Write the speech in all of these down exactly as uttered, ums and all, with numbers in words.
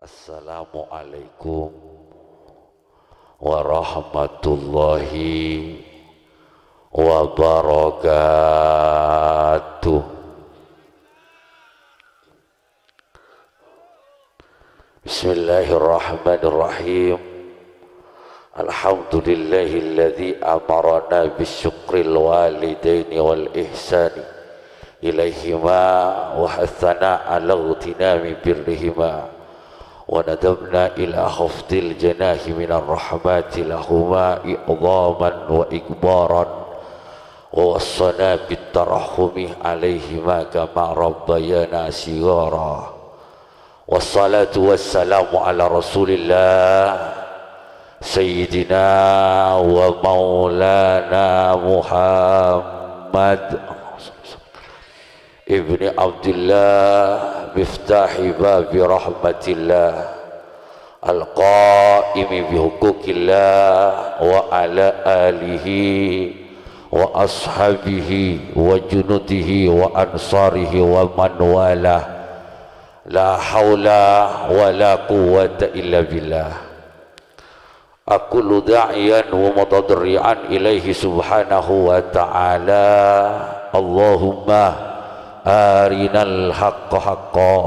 Assalamualaikum warahmatullahi wabarakatuh. Bismillahirrahmanirrahim. Alhamdulillahilladzi amarana bisyukril walidaini wal ihsani ilaihima wa hatsana ala ightinami birrihima wa nadabna ila khafdil janahi minar rahmati lahuma i'dhaman wa ikbaran wa wassana bit tarahhumi alaihima kama rabbayana shighara. Wassalatu wassalamu ala Rasulillah Sayyidina wa Maulana Muhammad ibni Abdillah, miftahi babi rahmatillah, al-qaimi bihuquqillah, wa ala alihi wa ashabihi wa junudihi wa ansarihi wa man walah. La haula wa la quwwata illa billah. Aqulu da'iyan wa mutadarri'an ilaihi subhanahu wa ta'ala. Allahumma arinal haqqa haqqa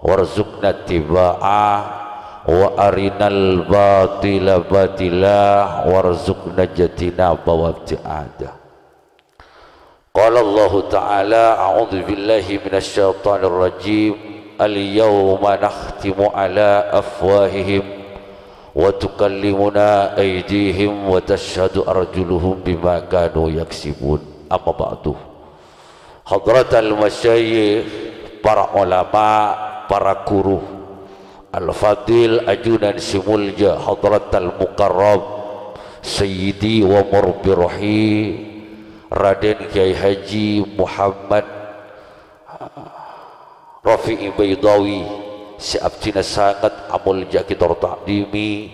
warzuqna ittiba'a, wa arinal batila batila warzuqna ijtinaba wa ibtiada. Qala Allahu Ta'ala, a'udzu billahi minasy syaithanir rajim. Al-yauma nakhtimu ala afwahihim wa tukallimuna aydihim wa tasyhadu arjuluhum bima kanu yaksibun. Amma ba'du. Hadratal masyayikh, para ulama, para guru, Al-Fadil ajunan sè molja Hadratal Mukarram Sayyidi wa Murabbi Ruhi Raden Kyai Haji Muhammad Rafi'i Baidawi sè abdhina sanget amolja'aghi tor ta'dhimi.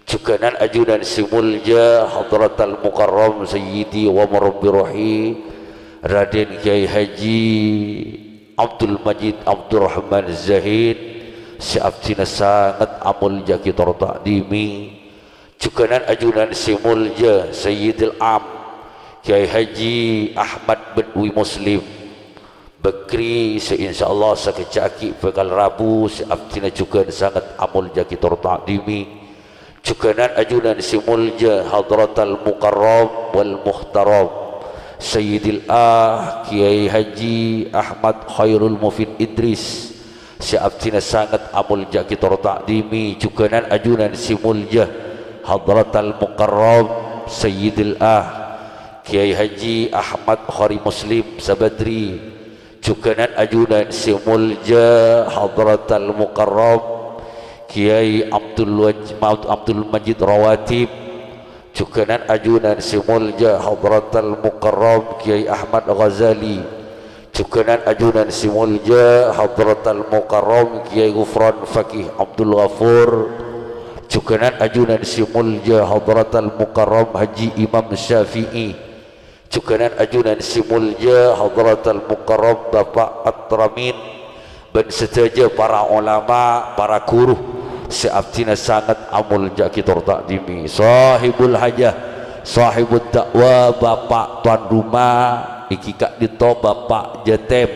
Jhughânan ajunan sè molja Hadratal Mukarram Sayyidi wa Murabbi Ruhi Raden Kyai Haji Abdul Majid Abdurrahman Zahid sè abdhina sanget amolja'aghi tor ta'dhimi. Jhughânan ajunan sè molja Sayyidil Am Kyai Haji Ahmad bin Wi Muslim Bakri sè insyaallah sakejjhâ' aghi' bhâkal rabu sè abdhina jhughân sanget amolja'aghi tor ta'dhimi. Jhughânan ajunan sè molja Hadratal Mukarram wal Muhtaram Sayyidil Ah Kyai Haji Ahmad Khairul Mufid Idris sè abdhina sanget amolja'aghi tor ta'dhimi. Jhughânan ajunan sè molja Hadratal Mukarram Sayyidil Ah Kyai Haji Ahmad Khari Muslim Sabadri. Jhughânan ajunan sè molja Hadratal Mukarram Kyai Abdul Waj-, Abdul Majid Rawatib. Jhughânan ajunan sè molja Hadratal Mukarram Kyai Ahmad Ghazali. Jhughânan ajunan sè molja Hadratal Mukarram Kyai Ghufran Faqih Abdul Ghafur. Jhughânan ajunan sè molja Hadratal Mukarram Haji Imam Syafi'i. Jhughânan ajunan sè molja Hadratal Mukarram Bapa' Atramin bân sadhâjâ para ulama, para guru sè abdhina sanget amolja'aghi tor ta'dhimi. Sahibul hajah, sahibud da'wa, Bapa' towan roma, èngghi ka'dinto Bapa' Jatem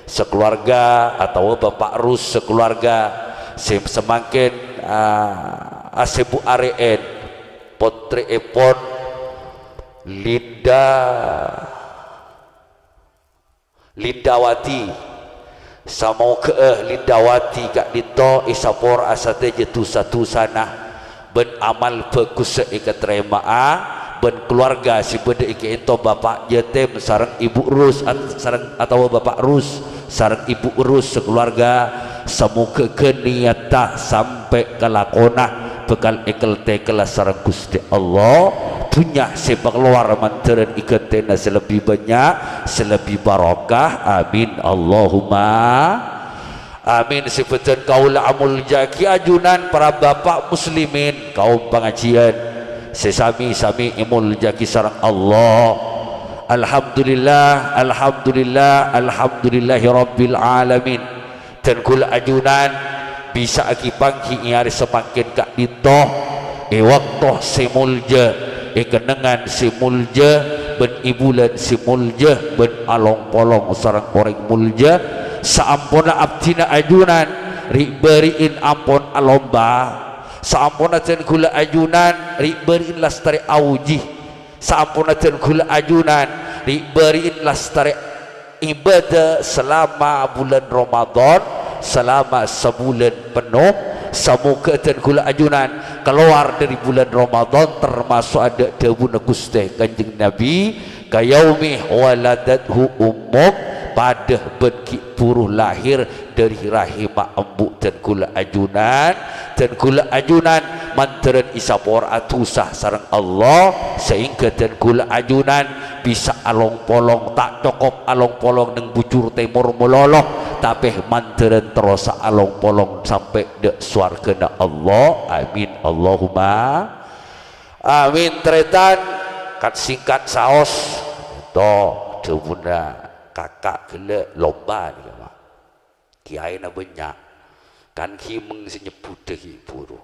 sakaluarga atawa Bapa' Rus sakaluarga sè samangkèn, ah, asèbu' arè'èn pottrèèpon Linda, Lindawati. Samogâ'â Lindawati ka'dinto èsapora'a sadhâjâ dhusa-dhusana bân amal bhâghussa èkatarèma'a, bân kaluarga sè bâdâ è ka'dinto Bapa' Jatem sareng Ibu Rus at-, sareng, atawa Bapa' Rus sareng Ibu Rus sakaluarga. Samogâ niyatta sampè' ka lakona bhâkal èkel-tèkella sareng Ghustè Allah, dhunnya sè pakalowar mandhârân èghântèna sè lebbi bânnya', sè lebbi barokah. Amin, Allahumma amin. Sè bâdhân kaulâ amolja'aghi ajunan para bapa' muslimin, kaum pangajiyân sè sami-sami èmolja'aghi sareng Allah. Alhamdulillah, alhamdulillah, alhamdulillahirabbil alamin. Dân kaulâ ajunan Bisa'aghi pangghi è arè samangkèn ka'dinto, è bâkto sè molja, è kennengngan sè molja, bân è bulân sè molja, bân along-polong sareng orèng molja. Saamponna abdhina ajunan ri'-bâri'in ampon alomba, saamponna dân ghulâ ajunan ri'-bâri'in lastarè aoji, saamponna dân ghulâ ajunan ri'-bâri'in lastarè ibadah selama bulan Ramadan, selama sebulan penuh. Samoga dân ghulâ ajunan kalowar dâri bulan Ramadan tamaso' adâ' dhâbuna Ghustè Kanjeng Nabi, "Kayaumi waladathu ummuk," padâ bân ghi' buru lahir dâri rahimma embu' dân ghulâ ajunan, dân ghulâ ajunan mandhârân èsapora'a dhusa sareng Allah, saèngghâ dân ghulâ ajunan bisa along-polong, ta' cokop along-polong neng bujur tèmor malolo, tapè mandhârân terrosa along-polong sampè' dâ' sowarghâna Allah. Amin, Allahumma amin. Tarètan, kat-singkat saos, to, dhâbuna kaka' ghellâ' lomba nèka, Pak. Kèyaèna bânnya', kan ghimèng sè nyebbhudhâ ghi' buru.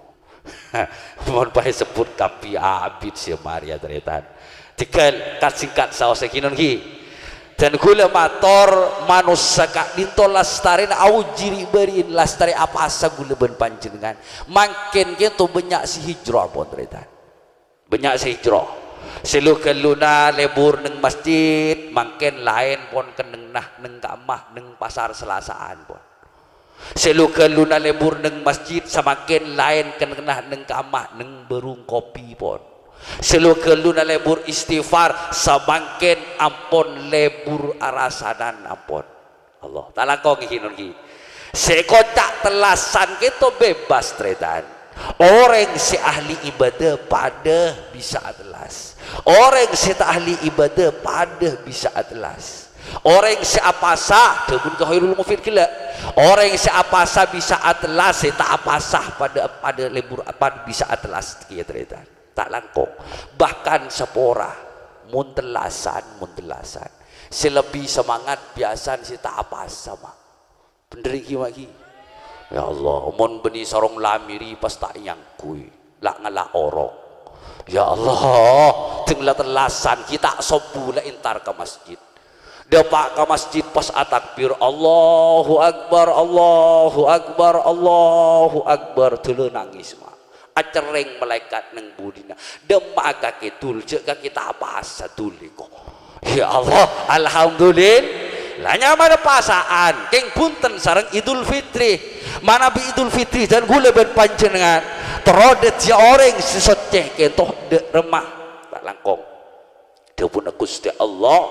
Mon pas èsebbhut kabbhi abit sè marèya, tarètan. Tèghâl kat-singkat saos è ghi non ghi. Dân ghulâ mator, manossa ka'dinto lastarèna aoji ri'-bâri'in, lastarè apowasa ghulâ bân panjhennengngan. Mangkèn kènto bânnya' sè hijrah, pon, tarètan. Bânnya' sè hijrah. Sè lu-ghâlluna lebur neng masjid, mangkèn laèn pon kennengnganna neng ka'emma neng Pasar Selasaan, pon. Sè lu-ghâlluna lebur neng masjid, samangkèn laèn kennengnganna neng ka'emma neng bârung kopi, pon. Sè lu-ghâlluna lebur istighfar, samangkèn ampon lebur arasanan, ampon. Allah, ta' langkong ghi non ghi. Sè èkoca' tellasan kènto bebas, tarètan. Orèng sè ahli ibadah padâ bisa atellas. Orèng sè ta' ahli ibadah padâ bisa atellas. Orèng sè apowasa, dhâbuna Khairul Mufid ghellâ'. Orèng sè apowasa bisa atellas, sè ta' apowasa padâ, padâ lebur, padâ bisa atellas kèya, tarètan. Ta' langkong, bahkan sapora, mon tellasan, mon tellasan. Sè lebbi semangat biyasana sè ta' apowasa, Ma'. Bhendher ghi, Ma', ghi. Ya Allah, mon bânnè sarong lamèrè pas ta' èangghuy, la ngala' orok. Ya Allah, dâng la tellasan ghi ta' sobbhu la entar ka masjid. Dâpa' ka masjid pas atakbir, "Allahu Akbar, Allahu Akbar, Allahu Akbar." Dâlâ nangès, Ma'. Acerrèng malaèkat neng budina. Dâmma'a kakè dul, jhâ' kakè ta' apowasa dul èko. Ya Allah, alhamdulillah. La nyamana pasa'an, kèng bhunten sareng Idul Fitri. Manabi Idul Fitri dân ghulâ bân panjhennengngan terro dhâddhiyâ orèng sè soccè kènto dâ' remma. Ta' langkong. Dhâbuna Ghustè Allah,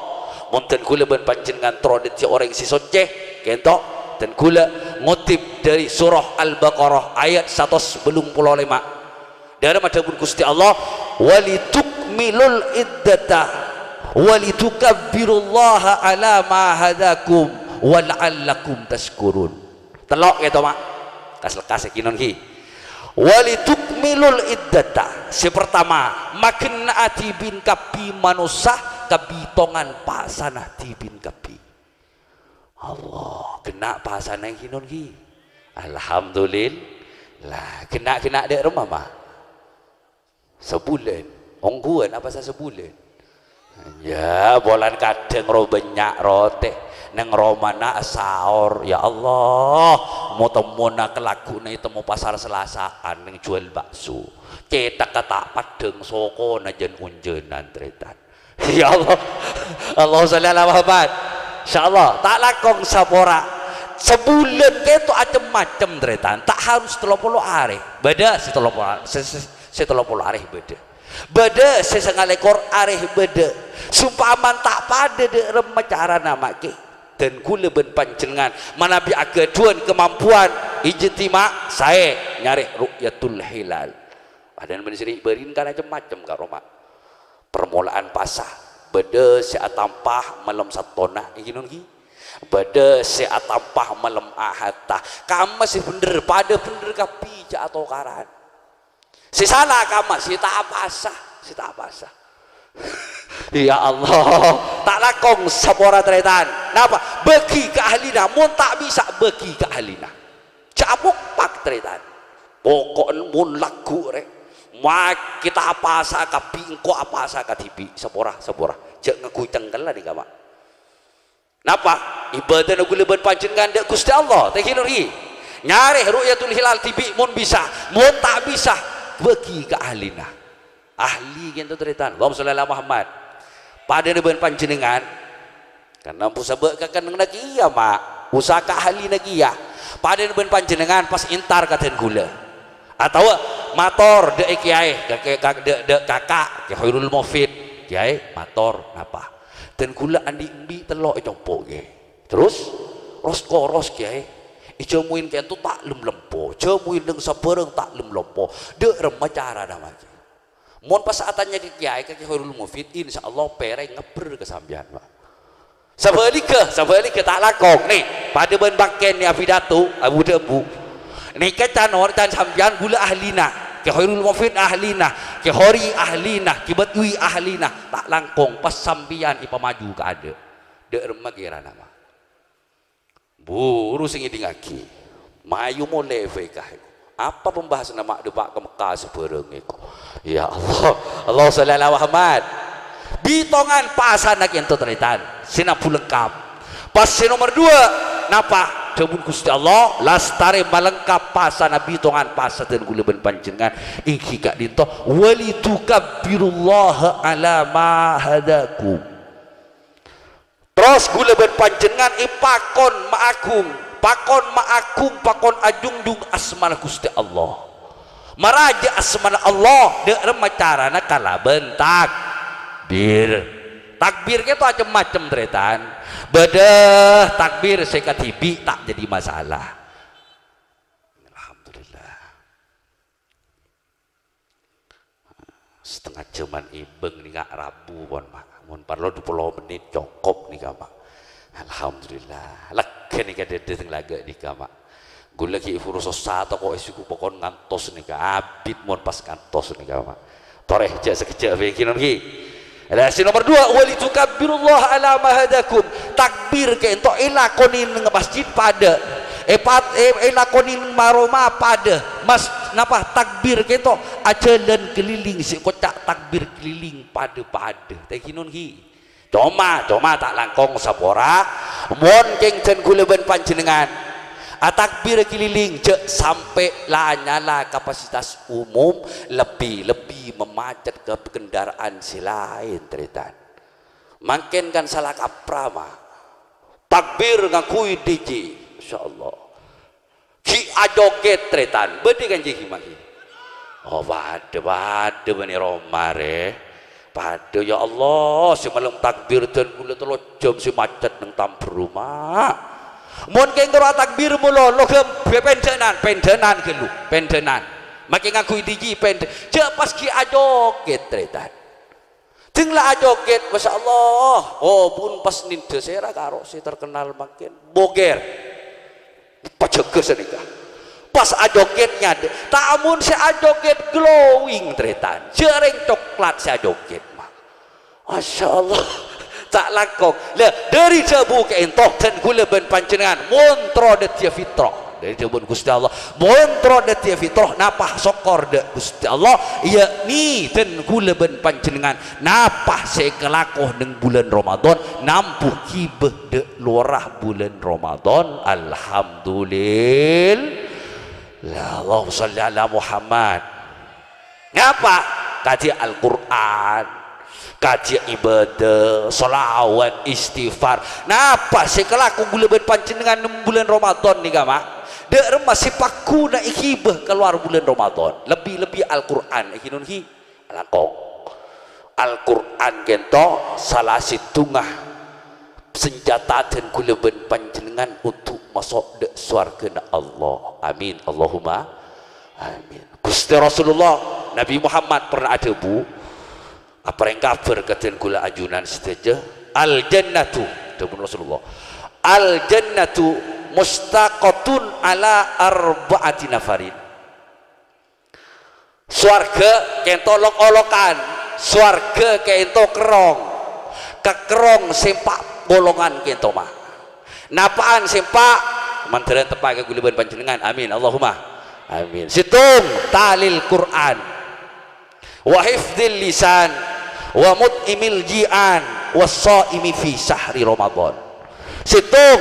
mon dân ghulâ bân panjhennengngan terro dhâddhiyâ orèng sè soccè, kènto, dân ghulâ ngoddhip dâri surah Al-Baqarah ayat satos bâllung polo lèma'. Dâ'remma dhâbuna Ghustè Allah, "Walitukmilul iddata, walitukabbirullaha ala ma hadakum, wala'allakum tasykurun." Tello' kènto, Ma'. Kas-lekkas ghi non ghi. "Walitukmilul iddata." Sè partama, magenna'a dhibi' kabbhi manossa kabhitongan pasana dhibi' kabbhi. Allah, genna' pasana ghi non ghi. Alhamdulillah. Genna'-genna' dâ' remma, Ma'? Sabulân. Ongghuwân apowasa sabulân? Ya, polana kadhâng ro bânnya' rotè. Neng romana asaor, "Ya Allah, mo-temmona kalagghu'na ètemmo Pasar Selasaan neng juwâl bakso. Cèthagghâ ta' peddhâng, sokona jân-onjhânan, tarètan." Ya Allah. Allahumma shalli ala Muhammad. Insyaallah, ta' langkong sapora. Sabulân kènto acem-macem, tarètan. Ta' harus tello polo arè. Bâdâ sè tello polo, sè, sè, sè tello polo arè bâdâ. Bâdâ sè sangalèkor arè bâdâ. Saompamana ta' padâ dâ' remma carana, Ma', ghi. Dân ghulâ bân panjhennengngan manabi aghâdhuwân kamampowan ijtima' saè nyarè ru'yatul hilal. Padahal bân sè ri'-bâri'na kan acem-macem karo, Ma'. Parmola'an pasa, bâdâ sè atampa malem Sattona, èngghi non ghi? Bâdâ sè atampa malem Ahadda. Kamma sè bhendher, padâ bhendher kabbhi, jhâ' atokaran. Sè sala kamma sè ta' apasa, sè ta' apasa. Ya Allah, ta' langkong sapora tarètan. Napa? Bâgi ka ahlina, mon ta' bisa bâgi ka ahlina. Jhâ' apokpak, tarètan. Poko'en mon lagghu' rè, ma' kita apasa kabbhi, engko' apasa kadhibi', sapora, sapora. Jhâ' ngangghuy cengkella nèka, Pak. Napa? Ibâdâna ghulâ bân panjhennengngan dâ' Ghustè Allah, tèngghi nori. Nyarè ru'yatul hilal dhibi' mon bisa, mon ta' bisa, bâgi ka ahlina. Ahli ghânto tarètan. Allahumma sholli ala Muhammad. Padâna bân panjhennengngan, karna pusabâ' ka kennengnganna kèya, Ma'. Usaha ka ahlina kèya. Padâna bân panjhennengngan pas entar ka dân ghulâ. Atawa mator dâ' è kèyaè, ka, ka, ka, dâ', dâ' kaka', Kè Khairul Mufid. Kèyaè, mator, napa? Dân ghulâ andi' embi' tello' ècompo', Kè. Terros, ros-koros, Kèyaè. Èjâmuwin kènto ta' lem-lempo. Jâmuwin neng sabârâng ta' lem-lempo. Dâ' remma carana, Ma'? Mon pas atanya ka kèyaè, ka Kè Khairul Mufid, insyaallah pèrèng ngabbher ka sampèyan, Pak. Sabhâligghâ, sabhâligghâ ta' langkong. Nè, padâ bân bangkèn nè apidato, abu-dhâbu. Nèka can or-, can sampèyan ghulâ ahlina, Kè Khairul Mufid ahlina, Kè Khori ahlina, Kè Badwi ahlina. Ta' langkong pas sampèyan èpamaju ka adâ'. Dâ' remma kèrana, Ma'? Buru sè ngèdingngaghi. Mayu molè F K. Apa pembahasanna ma' dâpa' ka Mekka sabârâng èko? Ya Allah. Allahumma sholli ala Muhammad. Bitongan pasana kènto tarètan. Sè nabu lengkap. Pas sè nomer dua, napa? Dhâbuna Ghustè Allah, lastarè malengkap pasana bitongan pasa dân ghulâ bân panjhennengngan. Èngghi ka'dinto, "Walitukabbirullaha ala ma hadakum." Terros ghulâ bân panjhennengngan èpakon maaghung, pakon maaghung, pakon ajhungjhung asmana Ghustè Allah. Marajâ asmana Allah, dâ' remma carana kalabân takbir. Takbir kèto cem-macem, tarètan. Bâdâ takbir sè kadhibi' ta' dhâddhi masalah. Alhamdulillah. Satengnga jhâman èbâng nèka rabu pon, Ma'. Mon parlo dupolo mennit cokop nèka, Ma'. Alhamdulillah. Lega nèka dhâddhi teng laga' nèka, Ma'. Ghulâ ghi' buru sossa toko'è suku pokon ngantos nèka. Abit mon pas ngantos nèka, Ma'. Torè, jhâ' sakejjhâ' bhâi, ghi non ghi. Lah, sè nomer dua, "Walitukabbirullaha ala ma hadakum." Takbir kènto èlakonè neng masjid padâ. Èpat-, è-, èlakonè neng ma-roma padâ. Mas, napa takbir kènto ajhâlân keliling sè koca' takbir keliling padâ-padâ. Tèngghi non ghi. Coma, coma ta' langkong sapora. Mon kèng dân ghulâ bân panjhennengngan atakbir keliling, jhâ' sampè' la-nyala kapasitas umum, lebbi-lebbi mamacet ka kendaraan sè laèn, tarètan. Mangkèn kan sala kapra, Ma'. Takbir ngangghuy D J. Masyaallah. Ghi' ajogèt, tarètan. Bâdâ kan jâ' ghi' mangkèn? Oh, padâ, padâ bânnè roma, rè. Padâ, ya Allah, sè malem takbir dân ghulâ tello jhâm sè macet neng Tambâru, Ma'. Mon kèng terro atakbir malolo, ghâmbhâ pendhânan, pendhânan ghâllu, pendhânan. Makè ngangghuy D J pendhâ-, jhâ' pas ghi' ajogèt, tarètan. Dâng la ajogèt, masyaallah. Oh, bun pas nèndhâ sèra karo sè terkenal mangkèn. Bogèr. Pajâgâ sanèka. Pas ajogèt nyadâ. Ta' mon sè ajogèt glowing, tarètan. Jhâ' rèng coklat sè ajogèt, Ma'. Masyaallah. Ta' langkong. Lah, dâri dhâbu ka'ènto, dân ghulâ bân panjhennengngan, mon terro dhâddhiyâ fitrah. Dâri dhâbuna Ghustè Allah, mon terro dhâddhiyâ fitrah, napa sokkor dâ' Ghustè Allah, yakni dân ghulâ bân panjhennengngan, napa sè èkalako neng bulân Ramadan, nambu ghibâ dâ' lowara bulân Ramadan. Alhamdulillah. Allahumma shalli ala Muhammad. Napa? Kajhi Al-Qur'an, kajhi ibadah, shalawat, istighfar. Napa sè èkalako ghulâ bân panjhennengngan neng bulân Ramadan nèka, Ma'? Dâ' remma sè paghuna èghibâ kalowar bulân Ramadan. Lebbi-lebbi Al-Qur'an, èghi non ghi. Langkong. Al-Qur'an ka'ènto sala sèttonga sanjhâta dân ghulâ bân panjhennengngan untuk maso' dâ' sowarghâna Allah. Amin. Allahumma amin. Ghustè Rasulullah, Nabi Muhammad pernah adhâbu, aparèng kabhâr ka dân ghulâ ajunan sadhâjâ, "Al-jannatu," dhâbuna Rasulullah, "al-jannatu mustaqatun ala arba'ati nafarin." Sowarghâ ka'ènto lok-olokan, sowarghâ ka'ènto kerrong. Ka kerrong sè empa' golongan ka'ènto, Ma'. Napa'an sè empa'? Mandhârân teppa' ka kaulâ bân panjhennengngan. Amin. Allahumma amin. Sèttong, talil Qur'an. Wa hifdzil lisan. Wa mut'imil ji'an. Was shaimi fi syahri Ramadan. Sèttong,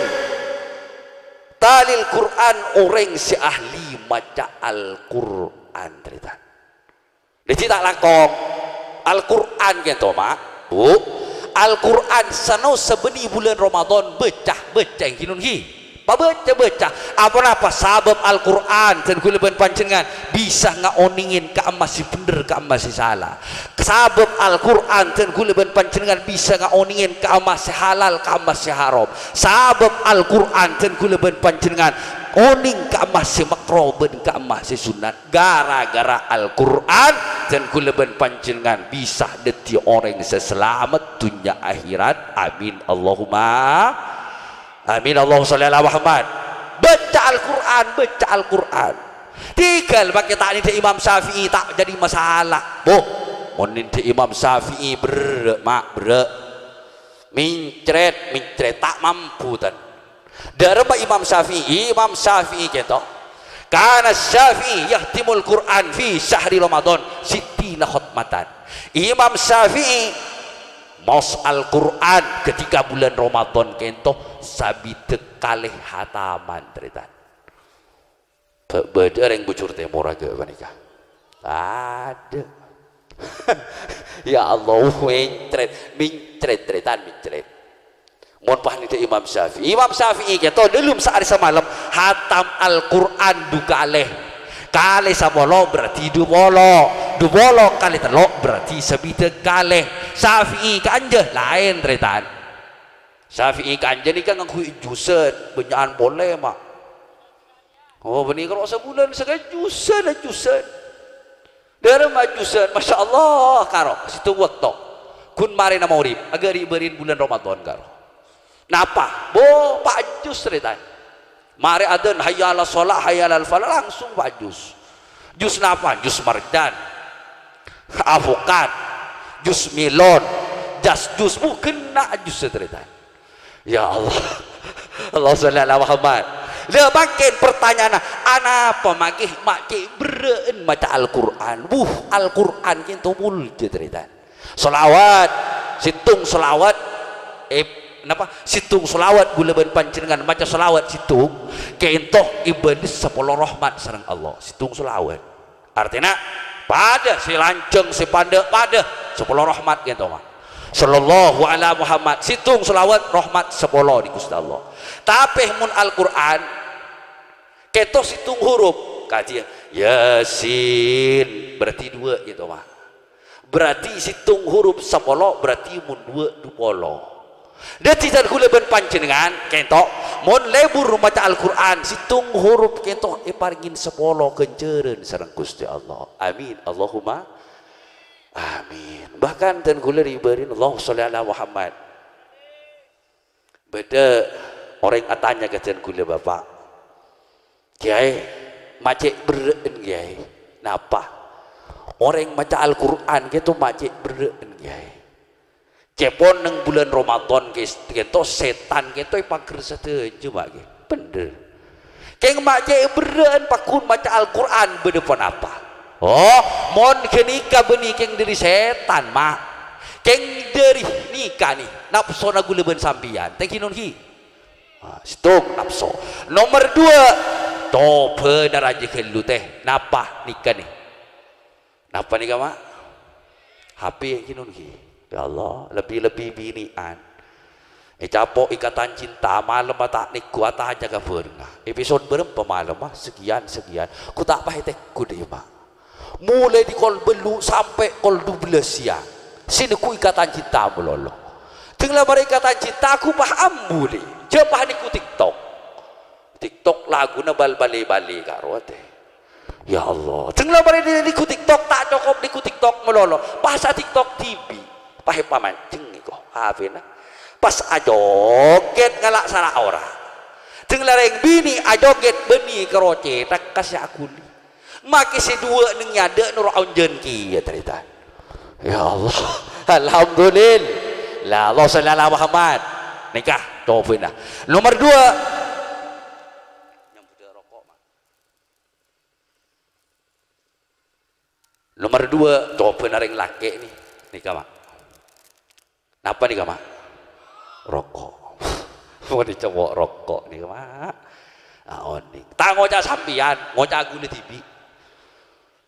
talil Qur'an, orèng sè ahli maca Al-Qur'an, tarètan. Dhâddhi ta' langkong. Al-Qur'an kènto, Ma', Bu. Al-Qur'an sano sabânnè bulân Ramadan bâca, bâca ènggi non ghi. Pabâca, bâca. Aponapa? Sabâb Al-Qur'an dân kaulâ bân panjhennengngan bisa ngaonèngè ka'emma sè bhendher, ka'emma sè sala. Sabâb Al-Qur'an dân kaulâ bân panjhennengngan bisa ngaonèngè ka'emma sè halal, ka'emma sè haram. Sabâb Al-Qur'an dân kaulâ bân panjhennengngan onèng ka'emma sè makro bân ka'emma sè sunnat. Gara-gara Al-Qur'an, dân kaulâ bân panjhennengngan bisa dhâddhi orèng sè salamet dhunnya akhèrat. Amin. Allahumma amin. Allahumma shalli ala Muhammad. Bâca Al-Qur'an, bâca Al-Qur'an. Tèghâl makè ta' nèdhâ Imam Syafi'i ta' jadi masalah. Boh, mon nèdhâ Imam Syafi'i berrâ', Ma', berrâ'. Mincrèt, mincrèt, ta' mampu, tan. Dâremma Imam Syafi'i, Imam Syafi'i kènto. Kana Syafi'i yahtimul Qur'an fi syahri Ramadan sittina khatmatan. Imam Syafi'i maos Al-Qur'an ketika bulân Ramadan kènto sabidhâk kalè hataman, tarètan. Bâ-, bâdâ rèng Bujur Tèmor aghâ' panèka? Adâ'. Ya Allah, mincrèt, mincrèt, tarètan, mincrèt. Mon pas nèdhâ Imam Syafi'i. Imam Syafi'i kènto dâlem saarè samalem hatam Al-Qur'an du kalè. Kalè sapolo berarti du polo. Du polo kalè tello' berarti sabidhâk kalè. Syafi'i kanja laèn, tarètan. Syafi'i kanja nèka ngangghuy jusan, bânnya'an polè, Ma'. Oh, bânnè karo sabulân sakajjusan, ajjusan. Dâremma ajjusan, Masya Allah, karo sèttong bâkto. Ghun marèna maghrib, aghâri'-bâri'na bulân Ramadan, karo. Napa? Bo, pa' jus, tarètan. Marè adzan, "Hayya 'alas shalah, hayya 'alal falah," langsung pa' jus. Jus napa? Jus marjan, apokat, jus melon, jas jus, bu, ghenna' jus, tarètan. Ya Allah. Allah sholli ala Muhammad. Lah, mangkèn pertanyaanna, anapa mangkè ma' cè' berrâ'ân maca Al-Qur'an? Wuh, Al-Qur'an kènto molja, tarètan. Sholawat, sèttong sholawat, eh, napa? Sèttong sholawat kaulâ bân panjhennengngan maca sholawat sèttong, kènto èbâles sapolo rahmat sareng Allah. Sèttong sholawat. Artèna, padâ sè lanjhâng, sè pandâ', padâ. Sapolo rahmat kènto, Ma'. Sallallahu ala Muhammad. Sèttong sholawat, rahmat sapolo dhi Ghustè Allah. Tapè mon Al-Qur'an, kènto sèttong huruf. Kadhi Yasin, berarti duwâ' kènto, Ma'. Berarti sèttong huruf sapolo, berarti mon duwâ', dupolo. Dhâddhi, dân kaulâ bân panjhennengngan, kènto, mon lebur maca Al-Qur'an, sèttong huruf kènto èparèngè sapolo ghânjhârân sareng Ghustè Allah. Amin. Allahumma amin. Bahkan, dân kaulâ rè-bâri'na, Allahumma sholli ala Muhammad. Bâdâ orèng atanya ka dân kaulâ, "Bapa', Kèyaè, ma' cè' berrâ'ân, Kèyaè. Napa? Orèng maca Al-Qur'an kènto ma' cè' berrâ'ân, Kèyaè. Cèpon neng bulân Ramadan kè-, kènto sètan kènto èpagher sadhâjâ, Ma', kè. Bhender. Kèng ma' cè' berrâ'ân pagghun maca Al-Qur'an bâdâ ponapa?" "Oh, mon ghânèka bânnè kèng dâri sètan, Ma'. Kèng dâri nèka, nè, napsona kaulâ bân sampèyan." Tèngghi non ghi. Ah, sèttong napso. Nomer duwâ', cobâna rajâ ghâllu, tè. Napa nèka, nè? Napa nèka, Ma'? H P ghi non ghi. Ya Allah, lebbi-lebbi binè'an. Ècapo' Ikatan Cinta, malemma ta' neggu' atajâ ka bhârengnga. Episode bârâmpa malemma? Sekian, sekian. Ghu ta' paè teggu, dhi, Ma'. Molaè dâri kol bâllu' sampè' kol dubellâs sèyang, sè neggu' Ikatan Cinta malolo. Dângla marè Ikatan Cinta, ghu pas ambu, dhi. Jhâ' pas neggu' TikTok. TikTok laguna bal-, bâli-bâli karo atè. Ya Allah. Dângla marè neggu' TikTok, ta' cokop neggu' TikTok malolo. Pas a-TikTok dhibi'. Pas èpamanjheng nèko H P-na. Pas ajogèt ngala' sara ora. Dângla rèng binè' ajogèt bânnè karo cèthakka sè aghuli. Makè sè duwâ' neng nyadâ' noro' onjhân kèya, tarètan. Ya Allah. Alhamdulillah. Allahumma shalli ala Muhammad. Nèka, cobâna. Nomer duwâ'. Nomer dua, cobhâna rèng lakè' nè. Nèka, Ma'. Napa nèka, Ma'? Roko'. Mon ècobhâ roko' nèka, Ma'. Ah, onèng. Ta' ngoca' sampèyan, ngoca' ghulâ dhibi'.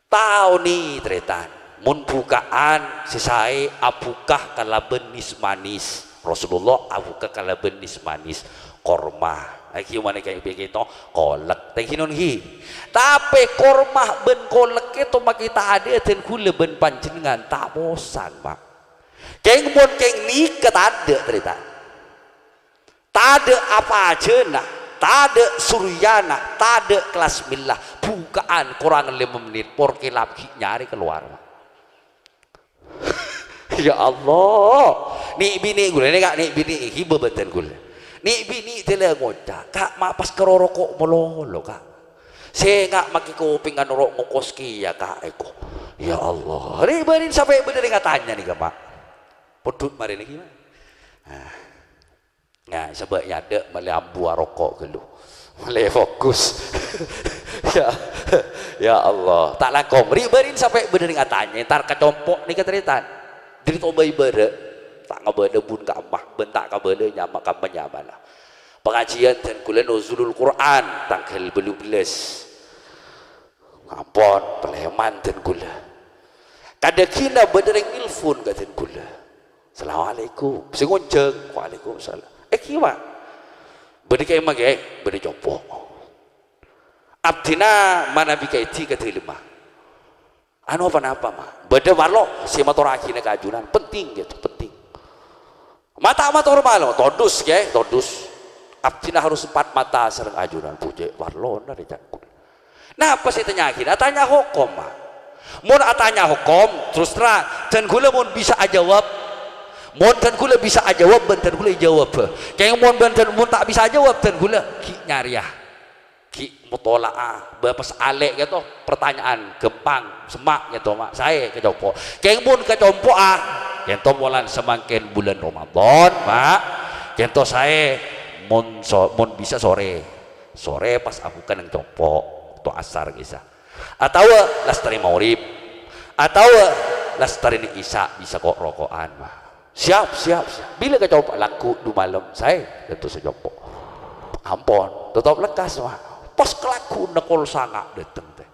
Taonè, tarètan. Mon buka'an sè saè abhuka kalabân nès-manès. Rasulullah abhuka kalabân nès-manès. Korma. Lagi mana kayak begitu? Kolek. Thank you, non, ghi. Tapè korma bân kolek itu makkè tadâ' dân ghulâ bân panjhennengngan ta' posang, Ma'. Kèng mon kèng nèka tadâ', tarètan. Tadâ' apajâna, tadâ' suryana, tadâ' kelas milla. Buka'an korang lèma mennit, porkè lap ghi' nyarè kalowar. Ya Allah. Nè'-binè' ghulâ nè, Ka', nè'-binè' ghibâ bâdân ghulâ. Nè'-binè' dâlâ ngoca', "Ka', ma' pas karo roko' malolo, Ka'. Sènga' makkè kopèngan ro' ngokos kèya, Ka', èko." Ya Allah. Rè' bârin sampè' bâdâ rèng atanya nèka, Ma'. Pondhut marè nèka, Ma'. Ah. Nah, sabâ' nyadâ' malè ambu aroko' ghâllu. Malè fokus. Ya, ya Allah. Ta' langkong. Rè' bârin sampè' bâdâ rèng atanya, entar ka compo' nèka tarètan. Dhâri tobâi bârâ'. Ta' ngabâlâ bun ka emma, bân ta' kabâlâ nyama ka emma nyamana. Pangajiyân dân ghulâ Nuzulul Qur'an, tangghâl bâllu bellâs. Ampon, palèman dân ghulâ. Kadhâgghina bâdâ rèng nelpon ka dân ghulâ. "Assalamualaikum." Sè ngonjhâng, "Waalaikumsalam." "Eh, kiwa." "Bâdâ kèma, Kè?" "Bâdâ compo'." "Abdhina manabi kaèdhi ka dâlemma." "Anu, ponapa, Ma'?" "Bâdâ parlo sè matorraghina ka ajunan. Penting, gitu, penting." "Ma' ta' mator malo." "Todus, Kè, todus. Abdhina harus empat mata sareng ajunan." Bhujâ' parlona rè ca'na. Napa sè ètanya'aghina? Atanya hokom, Ma'. Mon atanya hokom, terus terang, dân ghulâ mon bisa ajâwâb, mon dân ghulâ bisa ajâwâb, bân dân ghulâ èjâwâb. Kèng mon bân dân, mon ta' bisa ajâwâb, dân ghulâ ghi' nyarèya. Ghi' motola'a, bâ pas alè' kèto, pertanyaan ghâmpang, semma' kèto, Ma', saè ka compo'. Kèng mon ka compo'a, kènto polana samangkèn bulân Ramadan, Ma', kènto saè mon so-, mon bisa sorè. Sorè pas abhuka neng compo', to asar, isya. Atawa lastarè maghrib, atawa lastarè neng isya bisa ko'-roko'an, Ma'. Siap, siap, siap. Bilâ ka compo'? Lagghu' du malem, saè, kènto sè compo'. Ampon, totop lekkas, Ma'. Pas kalagghu'na kol sanga' dâteng, tè.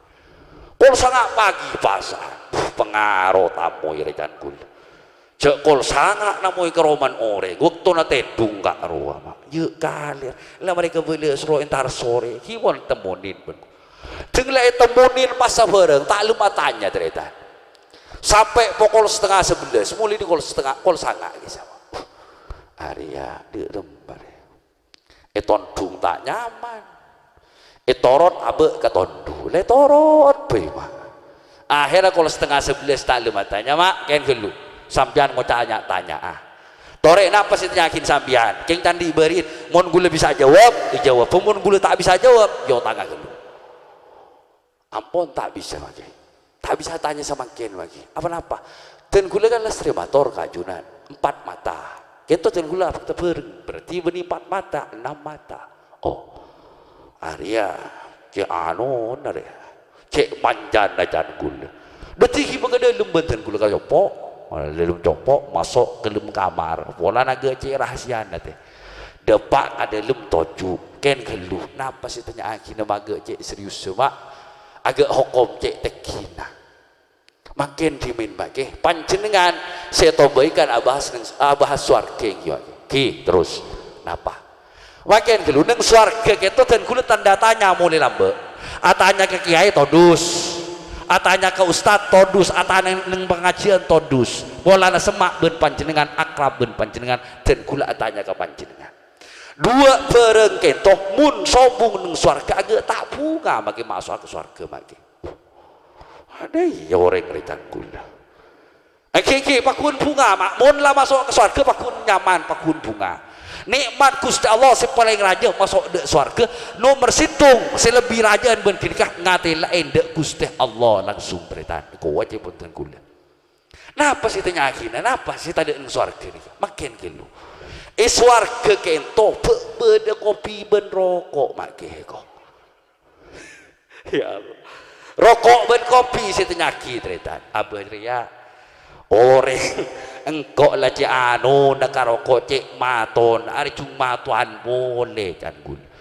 Kol sanga' pagi pasa'an. Buh, pangaro tamoy rè can ghulâ. Jâ' kol sanga' namoy karoman orèng. Bâktona tèdung ka' rowa, Ma'. Yâ' kalèr. La marè kabâlâ soro entar sorè. Ghi' mon temmonin bân. Deng la ètemmonin masa bhârâng, ta' lem atanya, tarètan. Sampè' pokol setengah sebelas, mulai di kol setengah, kol sanga' ghi' sama. Arèya, dhi' remma rè. Ètondhung ta' nyaman. Ètoron abâ' ka tondhu. La ètoron bhâi, Ma'. Akhèrra kol setengah sebelas ta' lem atanya, Ma', kèn ghâllu. Sampèyan ngoca' nya-, tanya'a. Torè napa sè ètanya'aghin sampèyan? Kèng candhi bâri'in. Mon ghulâ bisa ajâwâb, èjâwâb. Mon ghulâ ta' bisa ajâwâb, yâ otanga ghâllu. Ampon ta' bisa, Ma' Kè. Ta' bisa tanya samangkèn, Ma' Kè. Apa napa? Dân ghulâ kan lastarè mator ka ajunan. Empat mata. Kènto dân ghulâ abhâkta bhâreng. Berarti bânnè empat mata, enam mata. Oh. Arèya. Cè' anona rè. Cè' manjana can ghulâ. Dhâddhi ghibâ ka dâlem bân dân ghulâ ka compo'. Dâlem compo', maso' ka dâlem kamar. Polana ghâ' cè' rahasiana, tè. Dâpa' ka dâlem toju', kèn ghâllu. Napa sè ètanya'aghina maghâ' cè' serius, Ma'? Aghâ' hokom cè' tègghina. Mangkèn dhimèn, Ma' Kè. Panjhennengngan sè ètobâi kan abahas neng, abahas sowarghâ, ènggi, Ma' Kè. Ghi, terros. Napa? Mangkèn ghâllu neng sowarghâ kèto dân ghulâ tanda tanya molè lambâ'. Atanya ka kèyaè todus. Atanya ka ustad todus. Atanya neng pangajiyân todus. Polana semma' bân panjhennengngan, akrab bân panjhennengngan, dân ghulâ atanya ka panjhennengngan. Duwâ' bhârâng kènto, mon sobung neng sowarghâ aghâ' ta' bhunga, Ma' Kè, maso'a ka sowarghâ, Ma' Kè. Adâ' iyâ orèng rè can ghulâ. Ènggi, ènggi, paggun bhunga, Ma'. Mon la maso' ka sowarghâ, paggun nyaman, paggun bhunga. Nè'mat Ghustè Allah sè palèng rajâ maso' dâ' sowarghâ, nomer sèttong sè lebbi rajâ'ân bân ghânèka ngatèla'è dâ' Ghustè Allah langsung, tarètan. Kowajâ bhunten ghulâ. Napa sè ètanya'aghina? Napa sè tadâ' neng sowarghâ nèka? Mangkèn ghâllu. È sowarghâ kènto bâ-, bâdâ kopi bân roko', Ma' Kè, ko'. Ya Allah. Roko' bân Tobi' sè tanya'aghi, tarètan. Abâ' rèya, orèng engko' la cè' anona ka roko' cè' maton, arè jung matowan polè, can ghulâ.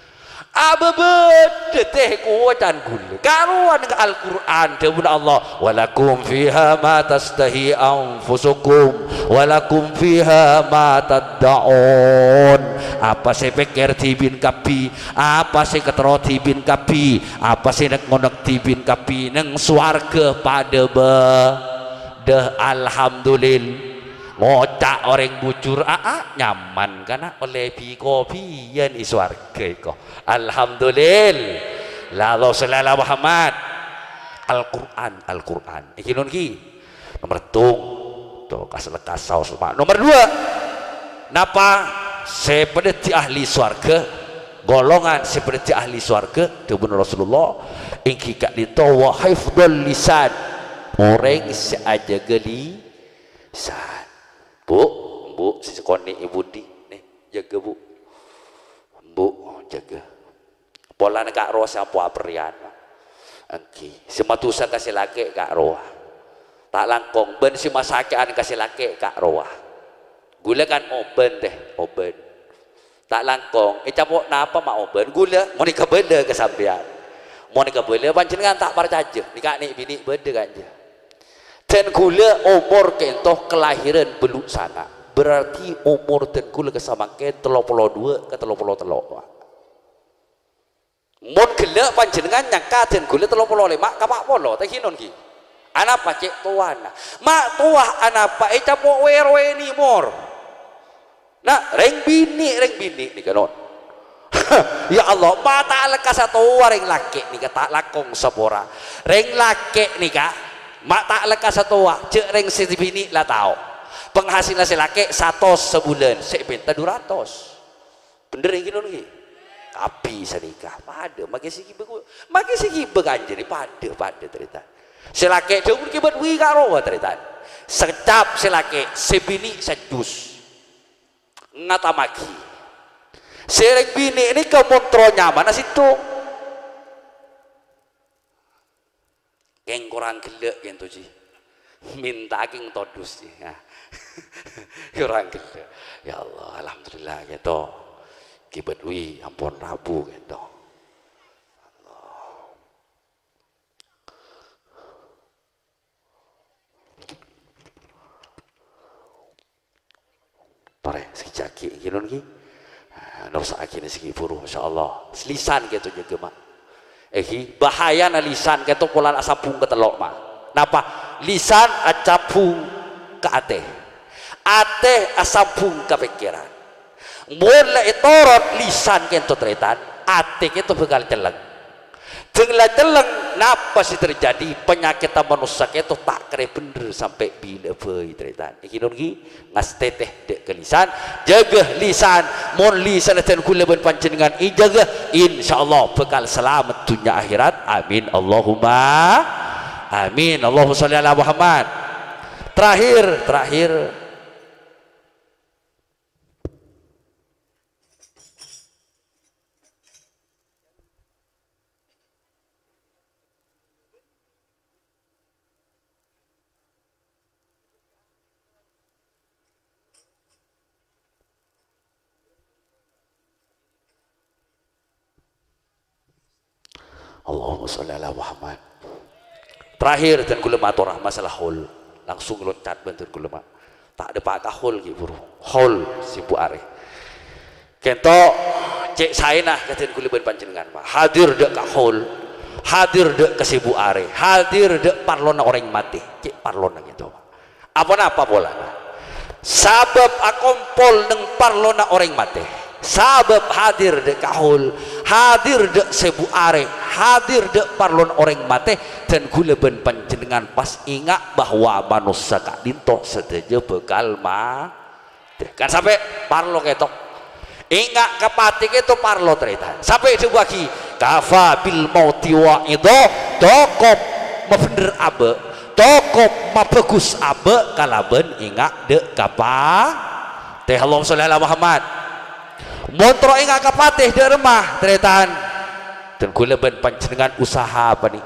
Abâ' bâdâ tè kowa, can ghulâ. Karowan ka Al-Qur'an, dhâbuna Allah, "Wa lakum fiha ma tastahi anfusukum, wa lakum fiha ma tadda'un." Apa sè pèkkèr dhibi'en kabbhi, apa sè katerro dhibi'en kabbhi, apa sè nèk-ngonèk dhibi'en kabbhi neng sowarghâ padâ bâ-, dâ, alhamdulil-, ngoca' orèng bujur, "Aa, nyaman kana ollè bi-, kopiyan è sowarghâ èko." Alhamdulil-, la, Allahumma sholli ala Muhammad. Al-Qur'an, Al-Qur'an. Èngghi non ghi. Nomer tung. To, kas-, lekas saos, Pak. Nomer dua. Napa sè padâddhi ahli sowarghâ? Golongan sè padâddhi ahli sowarghâ, dhâbuna Rasulullah, èngghi ka'dinto wa hifdzul lisan. Orèng sè ajâgâ lisan. Bu, Bu, sè sakonè' è budi? Nè, jâgâ, Bu. Bu, jâgâ. Polana ka' rowa sè ampo aperrèyan. Èngghi, sè madusa ka sè lakè' ka' rowa. Ta' langkong, bân sè masakè'an ka sè lakè' ka' rowa. Ghulâ kan obân, tè, obân. Ta' langkong, ècapo' napa ma' obân? Ghulâ, mon èkabâlâ ka sampèyan. Mon èkabâlâ, panjhennengngan ta' parcajâ, nèka nè' binè' bâdâ kanjâ. Dân ghulâ omor ka'dinto kalahiran bâllu' sanga'. Berarti omor dân ghulâ ka samangkèn tello polo dua ka tello polo tello'. Mon ghellâ' panjhennengngan nyangka dân ghulâ tello polo lèma' ka pa' polo, ta' ghinon ghi. Anapa cè' towana? Ma' towa anapa ècapo' wè-rowènè mor? Na, rèng binè', rèng binè' nèka, non. Ya Allah, ma' ta' lekkas satowa rèng lakè' nèka ta' langkong sapora. Rèng lakè' nèka ma' ta' lekkas satowa, jhâ' rèng sè binè' la tao. Penghasilan sè lakè' satos sabulân, sè èpènta du ratos. Bhender èngghi, non, èngghi? Kabbhi sanèka padâ, makè sè ghibâ ku-, makè sè ghibâ kanjâ rè padâ, padâ, tarètan. Sè lakè' dhâbuna kèbât wi ka' rowa, tarètan. Sakejjhâp sè lakè', sè binè' sajjus. Ngatammaghi. Sè rèng binè' nèka mon terro nyamana sèttong. Kèng korang ghellâ' kènto, Ji. Mènta kèng todus, Ji. Nah. Korang ghellâ'. Ya Allah, alhamdulillah, kènto. Kèbât wi, ampon rabu, kènto. Allah. Torè, sakejjhâ' ghi, èngghi, non, ghi. Ah, norsa'aghi nè sè ghi buru, insyaallah. Lisan kèto jâgâ, Ma'. Èngghi, bahayana lisan kèto polana asambhung ka tello', Ma'. Napa? Lisan asambhung ka atè. Atè asambhung ka pèkkèran. Mon la ètorot lisan kèto, tarètan, atè kèto bhâkal celleng. Dâng la celleng, napa sè terjadi? Panyakèdhâ manossa kèto ta' karè bhender sampè' bilâ bhâi, tarètan. Èngghi, non, ghi? Ngastètè dâ' ka lisan, jâgâ lisan. Mon lisanna dân ghulâ bân panjhennengngan èjâgâ, insyaallah bhâkal salamet dhunnya akhèrat. Amin, Allahumma amin. Allahumma sholli ala Muhammad. Terakhir, terakhir. Allahumma sholli ala Muhammad. Terakhir, dân ghulâ matora masalah haul. Langsung loncat bân dân ghulâ, Ma'. Ta' dâpa' ka haul, ghi buru. Haul, sèbu arè. Kènto, cè' saèna ka dân ghulâ bân panjhennengngan, Ma'. Hadir dâ' ka haul. Hadir dâ' ka sèbu arè. Hadir dâ' parlona orèng matè. Cè' parlona kènto, Ma'. Aponapa polana? Sabâb akompol neng parlona orèng matè. Sabâb hadir dâ' ka haul, hadir dâ' sèbu arè, hadir dâ' parlona orèng matè, dân ghulâ bân panjhennengngan pas enga' bahwa manossa ka'dinto sadhâjâ bhâkal ma-, Kan sampè' parlo kèto. Enga' ka patè kèto parlo, tarètan. Sampè' èdhâbuwaghi, "Kafa bil mauti wa'idha," tokop mabhender abâ', tokop mabhâghus abâ' kalabân enga' dâ' ka patè. Allahumma sholli ala Muhammad. Mon terro enga' ka patè dâ' remma, tarètan. Dân ghulâ bân panjhennengngan usaha panè.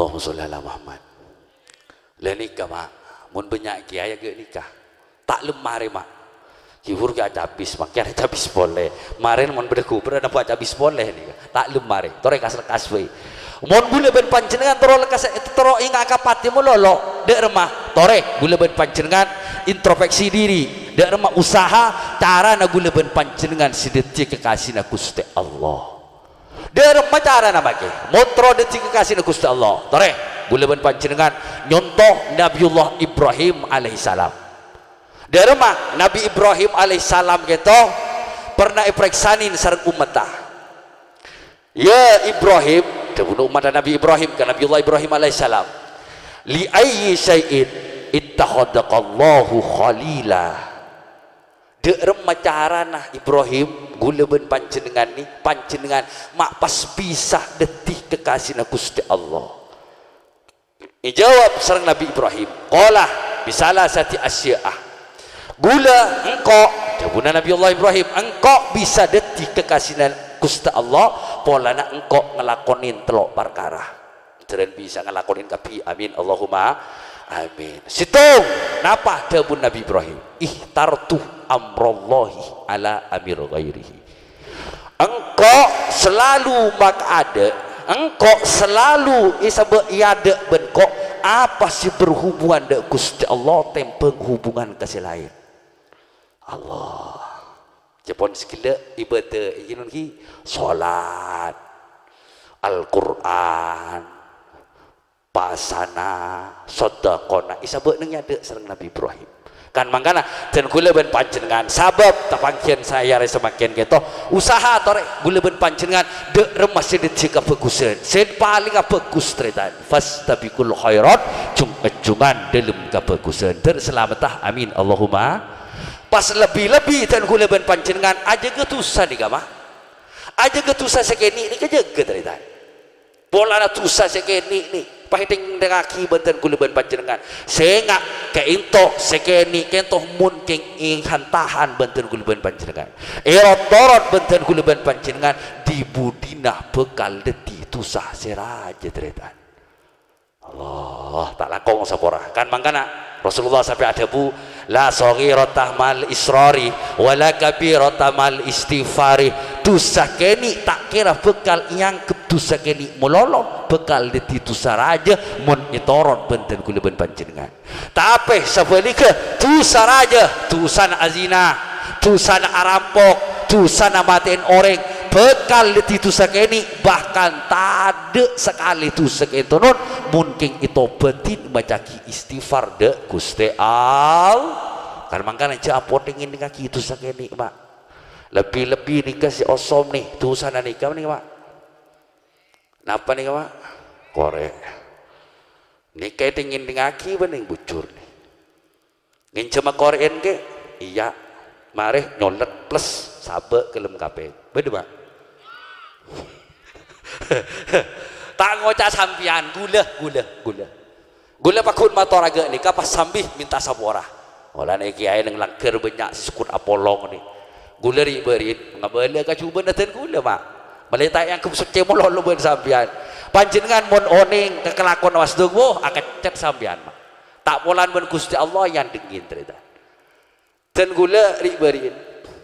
Allahumma sholli ala Muhammad. Lah nèka, Ma', mon bânnya' kèyaè ghâ' nèka. Ta' lem marè, Ma'. Ghibur ghi' acabis, mangkèn acabis polè. Marèn mon bâdâ ghubâr, ana' acabis polè nèka. Ta' lem marè. Torè kas-lekkas bhâi. Mon ghulâ bân panjhennengngan terro lekkas, terro enga' ka patè malolo, dâ' remma. Torè, ghulâ bân panjhennengngan introspeksi diri. Dâ' remma usaha carana ghulâ bân panjhennengngan sè dhâddhiyâ kekasina Ghustè Allah. Dâ' remma carana makè? Mon terro dhâddhi kekasina Ghustè Allah. Torè, ghulâ bân panjhennengngan nyonto Nabiyullah Ibrahim alaihissalam. Dâ' remma Nabi Ibrahim alaihissalam ghâto pernah èparèksanè sareng ommaddhâ. "Ya Ibrahim," dhâbuna ommaddhâ Nabi Ibrahim ka Nabiyullah Ibrahim alaihissalam, "li ayyi syai'in ittakhadzaqallahu khalila?" Dâ' remma carana Ibrahim, ghulâ bân panjhennengngan nè, panjhennengngan ma' pas bisa dhâddhi kekasina Ghustè Allah? Èjâwâb sareng Nabi Ibrahim, qala, "Bi salasati asya'a." Ghulâ, engko', dhâbuna Nabi Allah Ibrahim, "Engko' bisa dhâddhi kekasina Ghustè Allah, polana engko' ngalakonè tello' parkara." Dhârân bisa ngalakonè kabbhi. Amin. Allahumma amin. Sèttong, napa dhâbuna Nabi Ibrahim? "Ikhtartu amrallahi ala amri ghairihi." Engko' salalu makaadâ', engko' salalu èsabâ' è adâ' bân ko' apa sè berhubungan dâ' Ghustè Allah tèmbhâng hubungan ka sè laèn. Allah. Jhâ' pon sè ghellâ' ibâdâ, èngghi, shalat, Al-Qur'an, pasana, sodakohna, èsabâ' neng è adâ' sareng Nabi Ibrahim. Kan mangkana, dân ghulâ bân panjhennengngan, sabâb tapanggiyân saè arè samangkèn ghâto, usaha torè ghulâ bân panjhennengngan dâ' remma sè dhâddhiyâ kabhâghusân, sè palèngnga bhâghus, tarètan. "Fastabiqul khairat," jhung-èjhungan dâlem kabhâghusân. Dâr salameddhâ, amin, Allahumma. Pas lebbi-lebbi dân ghulâ bân panjhennengngan ajâgâ dhusa nèka, Ma'. Ajâgâ dhusa sè kènè' nèka jâgâ, tarètan. Polana dhusa sè kènè' nè, paètèng-tèngngaghi bân dân ghulâ bân panjhennengngan. Sènga' ka'ènto sè kènè' ka'ènto mon kèng èhan-tahan bân dân ghulâ bân panjhennengngan. Èrot-torot bân dân ghulâ bân panjhennengngan, dhi-budhina bhâkal dhâddhi dhusa sè rajâ, tarètan. Allah, ta' langkong sapora. Kan mangkana Rasulullah sampè' adhâbu, "La shaghirata ma'al israri, wa la kabirata ma'al istighfari." Dhusa kènè' ta' kèra bhâkal èangghep dhusa kènè' malolo, bhâkal dhâddhi dhusa rajâ mon ètoron bân dân ghulâ bân panjhennengngan. Tapè sabhâligghâ, dhusa rajâ, dhusana azina, dhusana arampok, dhusana matè'èn orèng, bhâkal dhâddhi dhusa kènè', bahkan tadâ' sakalè dhusa ka'ènto non, mon kèng ètobâdhi maca'aghi istighfar dâ' Ghustè All-, kan mangkana jhâ' ampon ngèdingngaghi dhusa kènè', Ma'. Lebbi-lebbi nèka sè osom nè, dhusana nèka nè, Ma'. Napa nèka, Ma'? Korè'. Nèka èdhing-ngèdhingngaghi bânnè bujur nè. Ngènjhâmma korè'en kè? Iyâ. Marè nyolèt plus sabâ' ghâlem kapèng. Bâdâ, Ma'? Ta' ngoca' sampèyan, ghulâ, ghulâ, ghulâ. Ghulâ pagghun mator ghânèka pas sambi mènta sapora. Polana kèyaè neng langghâr bânnya' sè sokot apolong nè. Ghulâ ri'-bâri'in ngabâlâ ka jhubâ'na dân ghulâ, Ma'. Malè ta' èangghep soccè malolo bân sampèyan. Panjhennengngan mon onèng ka kalakowanna Mas Duk, wo, akeccet sampèyan, Ma'. Ta' polana bân Ghustè Allah èandhengngin, tarètan. Dân ghulâ ri'-bâri'in,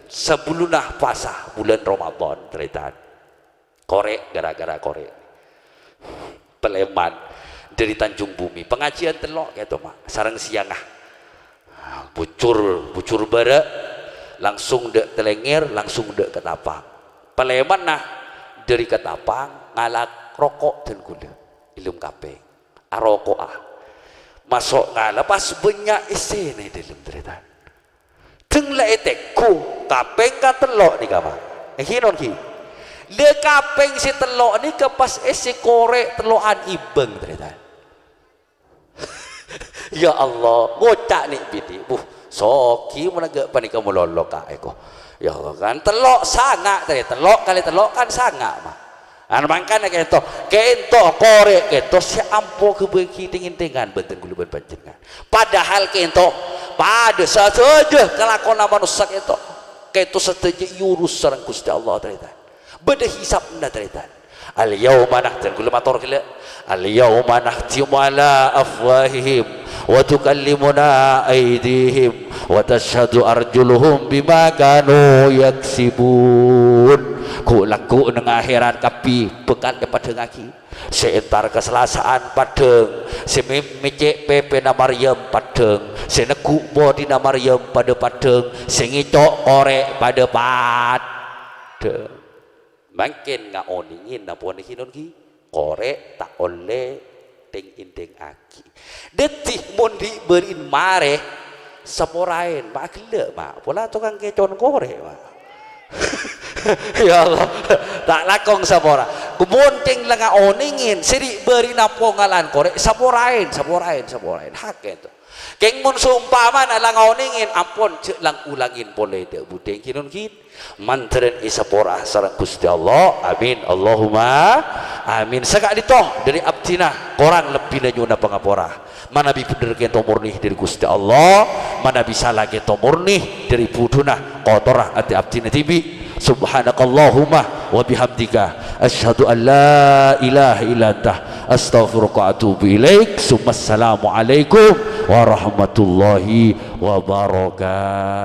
sabellunna pasa bulân Ramadan, tarètan. Korè', gara-gara korè'. Palèman dâri Tanjung Bumi. Pangajiân tello' kèto, Ma', sareng sèyangnga. Bujur, bujur bârâ', langsung dâ' Talèngèr, langsung dâ' Ketapang. Palèmanna dâri Ketapang, ngala' roko' dân ghulâ. È dâlem kapèng. Aroko'a. Maso' ngala' pas bânnya' èssèna è dâlem, tarètan. Dâng la ètengghu, kapèng katello' nèka, Ma'. Èngghi, non, ghi? La kapèng sè tello' nèka pas èssè korè' tello'an èbâng, tarètan. Ya Allah, ngoca' nè' binè', "Buh, soghi mon ghâ' panèka malolo ka' èko." Ya Allah, kan tello' sanga', tarè, tello' kalè tello' kan sanga', Ma'. An mangkana kènto, kènto korè' kènto sè ampo ghâbây ghi tèng-èntèngan bân dân ghulâ bân panjhennengngan. Padahal kènto padâ sadhâjâ kalakowanna manossa kènto. Kènto sadhâjâ èurus sareng Ghustè Allah, tarètan. Bâdâ hisabna, tarètan. Al-yauma nah-, jhân kaulâ mator ghellâ'. Al-yauma nakhtimu ala afwahihim wa tukallimuna aidihim wa tasyhadu arjuluhum bima kanu yaksibun. Ghu'-lagghu' neng aherat kabbhi bhâkal èpaddhângngaghi. Sè entar ka Salasaan paddhâng, sè mè-, mècè' pèpèna Maryam paddhâng, sè negghu' podhina Maryam padâ paddhâng, sè ngèco' korè' padâ paddhâng. Mangkèn ngaonèngè napa nèka non ghi? Korè' ta' ollè tèng-èntèngngaghi. Dhâddhi mon dhi' bâri'na marè, saporaèn, ma' ghellâ', ma'. Pola tokang kèco'na korè', ma'. Ya Allah, ta' langkong sapora. Mon cèng la ngaonèngè, sè dhi' bâri'na pongalan korè', saporaèn, saporaèn, saporaèn. Hakèto. Kèng mon sompamana la ngaonèngè, ampon, jhâ' lang-olangè polè dâ' budhing, ghi non ghi. Mandhârân èsapora sareng Ghustè Allah. Amin. Allahumma amin. Saka'dinto dâri abdhina, korang lebbina nyo'ona pangapora. Manabi bhender kènto morni dâri Ghustè Allah, manabi sala kènto morni dâri budhuna, kotorra atè abdhina dhibi'. Subhanakallahumma wa bihamdika, asyhadu an la ilaha illa anta, astaghfiruka wa atubu ilaik. Summassalamualaikum warahmatullahi wabarakatuh.